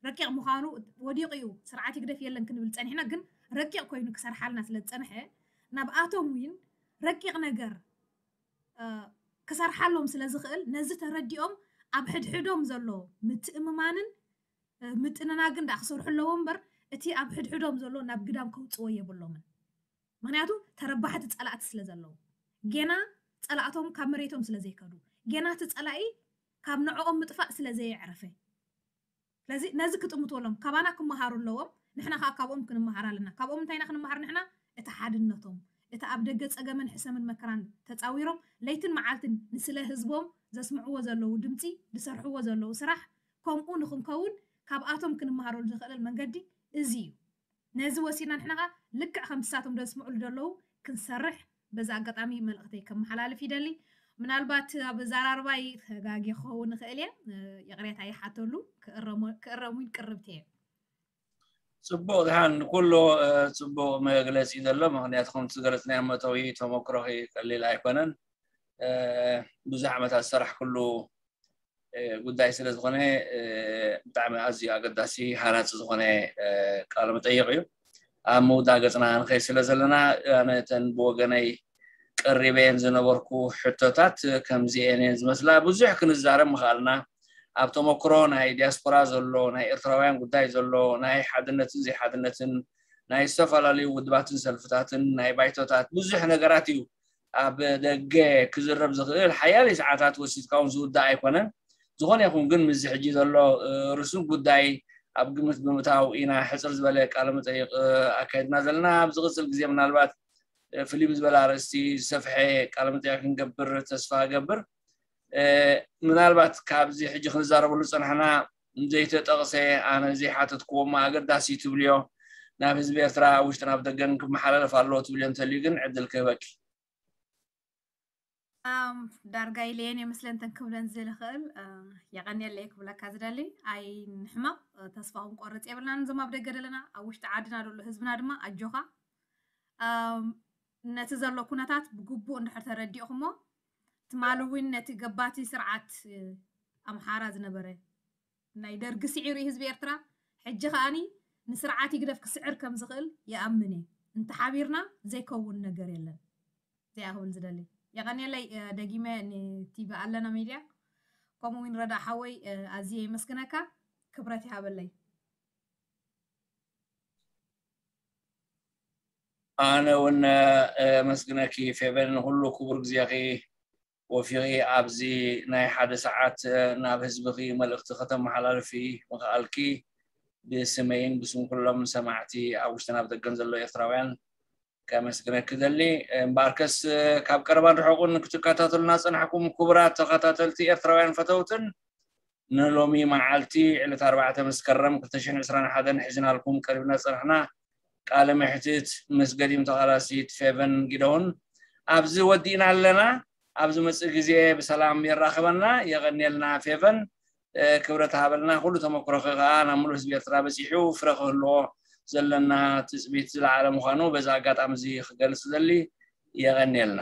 ረቂቕ ምዃኑ ወዲቑ እዩ። ስርዓት ይግደፍ የለን ክንብል ጸኒሕና፣ ግን ረቂቕ ኮይኑ ክሰርሓልና ስለ ዝጸንሐ፣ ናብኣቶም እውን ረቂቕ ነገር ክሰርሓሎም ስለ ዝኽእል፣ ነዚ ተረዲኦም ኣብ ሕድሕዶም ዘሎ ምትእምማንን ምጥንናግን ደኣ ክሰርሑ ኣለዎ እምበር፣ እቲ ኣብ ሕድሕዶም ዘሎ ናብ ግዳም ከውጽዎ የብሎምን። ምኽንያቱ ተረባሕቲ ጸላእቲ ስለ ዘለዉ፣ ጌና ጸላእቶም ካብ መሬቶም ስለ ዘይከዱ፣ ጌና እቲ ጸላኢ ካብ ንዕኦም ምጥፋእ ስለ ዘየዕረፈ፣ ስለዚ ነዚ ክጥምቱ ኣለዎም። ካባና ክመሃሩ ኣለዎም፣ ንሕና ከዓ ካብኦም ክንመሃር ኣለና። ካብኦም እንታይ ኢና ክንመሃር ንሕና? እቲ ሓድነቶም፣ እቲ ኣብ ደገ ጸገምን ሕሰምን መከራን ተጻዊሮም ለይትን መዓልትን ንስለ ህዝቦም ዘስምዕዎ ዘለዉ ድምጺ፣ ዝሰርሕዎ ዘለዉ ስራሕ፣ ከምኡ ንኽንከውን ካብኣቶም ክንመሃረሉ ዝኽእል መንገዲ እዚ እዩ። ነዚ ወሲድና ንሕና ኸዓ ልክዕ ከምቲ ንሳቶም ዘስምዑሉ ዘለዉ ክንሰርሕ በዚ ኣጋጣሚ መልእኽተይ ከመሓላልፍ ይደሊ። ምናልባት ኣብ ኣዘራርባይ ተጋግየ ክኸውን እኽእል እየ፣ ይቕሬታ ይሓተሉ፣ ክእረም እውን ቅርብቲ እየ። ጽቡቕ ድሓን፣ ንኩሉ ጽቡቕ መግለጺ ዘሎ። ምኽንያቱ ከምቲ ዝገለጽናዮ መእተዊ ተመክሮኺ ቀሊል ኣይኮነን። ብዙሕ ዓመታት ዝሰራሕክሉ ጉዳይ ስለ ዝኾነ ብጣዕሚ ኣዝዩ ኣገዳሲ ሃናፂ ዝኾነ ቃለ መጠይቕ እዩ። ኣብ ምውዳእ ገፅና ንኸይ ስለ ዘለና ኣነ እተን ብወገነይ ቀሪበየን ዝነበርኩ ሕቶታት ከምዚኤን እየን ዝመስላ። ብዙሕ ክንዛረብ ምኽኣልና ኣብ ተመክሮ ናይ ዲያስፖራ ዘሎ ናይ ኤርትራውያን ጉዳይ ዘሎ ናይ ሓድነትን ዘይሓድነትን ናይ ዝተፈላለዩ ውድባትን ሰልፍታትን ናይ ባይቶታት ብዙሕ ነገራት እዩ ኣብ ደገ ክዝረብ ዝኽእል ሓያለይ ሰዓታት ወሲድካ እውን ዝውዳእ ኣይኮነን። ዝኾነ ይኹን ግን ምስዚ ሕጂ ዘሎ ርሱን ጉዳይ ኣብ ግምት ብምእታው ኢና ሕፅር ዝበለ ቃለ መጠይቕ ኣካይድና ዘለና። ኣብ ዝቕፅል ግዜ ምናልባት ፍልይ ብዝበለ ኣርእስቲ ዝሰፍሐ ቃለ መጠይቕ ክንገብር ተስፋ እገብር። ምናልባት ካብዚ ሕጂ ክንዛረበሉ ዝፀናሕና ዘይተጠቕሰ ኣነ ዘይሓተትክዎ እሞ ኣገዳሲ ትብልዮ ናብ ህዝቢ ኤርትራ ኣብ ውሽጥን ኣብ ደገን ክመሓላለፍ ኣለዎ ትብልዮ እንተልዩ ግን ዕድል ክህበኪ። ዳርጋ ኢለየን እየ ምስለን ተን ክብለን ዝደሊ ክእል። የቐንየለይ ክብለካ ዝደሊ፣ ኣይንሕመቕ፣ ተስፋ ክንቆርፅ የብልናን። እዞም ኣብ ደገ ዘለና ኣብ ውሽጢ ዓድና ዘሎ ህዝብና ድማ ኣጆኻ፣ ነቲ ዘሎ ኩነታት ብግቡእ እንድሕር ተረዲእኹሞ፣ ትማሊ እውን ነቲ ገባቲ ስርዓት ኣምሓራ ዝነበረ ናይ ደርጊ ስዒሩ ህዝቢ ኤርትራ፣ ሕጂ ከኣኒ ንስርዓት ይግደፍ ክስዕር ከም ዝኽእል ይኣምን እየ። እንተሓቢርና ዘይከውን ነገር የለን። እዚኣ ክብል ዝደሊ። የቐንየለይ። ደጊመ ንቲቪ ኣለና ሚድያ ከምኡ እውን ረዳ ሓወይ ኣዝየ የመስግነካ። ክብረት ይሃበለይ። ኣነ እውን መስግነኪ ፌቨን ንኩሉ ክቡር ግዜኺ ወፊኺ ኣብዚ ናይ ሓደ ሰዓት ናብ ህዝብኺ መልእኽቲ ከተመሓላልፊ ምኽኣልኪ ብስመይን ብስም ኩሎም ሰማዕቲ ኣብ ውሽጥን ኣብ ደገን ዘሎ ኤርትራውያን ከመስግነኪ ደሊ። እምበኣርከስ ካብ ቀረባን ርሑቕን ክትከታተሉና ዝጸናሕኩም ክቡራት ተኸታተልቲ ኤርትራውያን ፈተውትን ንሎሚ መዓልቲ ዕለት ኣርባዕተ መስከረም ክልተ ሽሕን ዕስራን ሓደን ሒዝናልኩም ቀሪብና ዝጸናሕና ቃለ መሕትት ምስ ገዲም ተቓላሲት ፌቨን ጊደውን ኣብዚ ወዲእና ኣለና። ኣብ ዝመጽእ ግዜ ብሰላም የራኽበና። የቐንየልና ፌቨን። ክብረት ሃበልና። ኩሉ ተመክሮኺ ከኣ ናብ ሙሉእ ህዝቢ ኤርትራ በጺሑ ፍረ ክህልዎ ዘለና ትጽቢት ዝለዓለ ምዃኑ በዚ ኣጋጣሚ እዚ ክገልጽ ደሊ። የቐንየልና።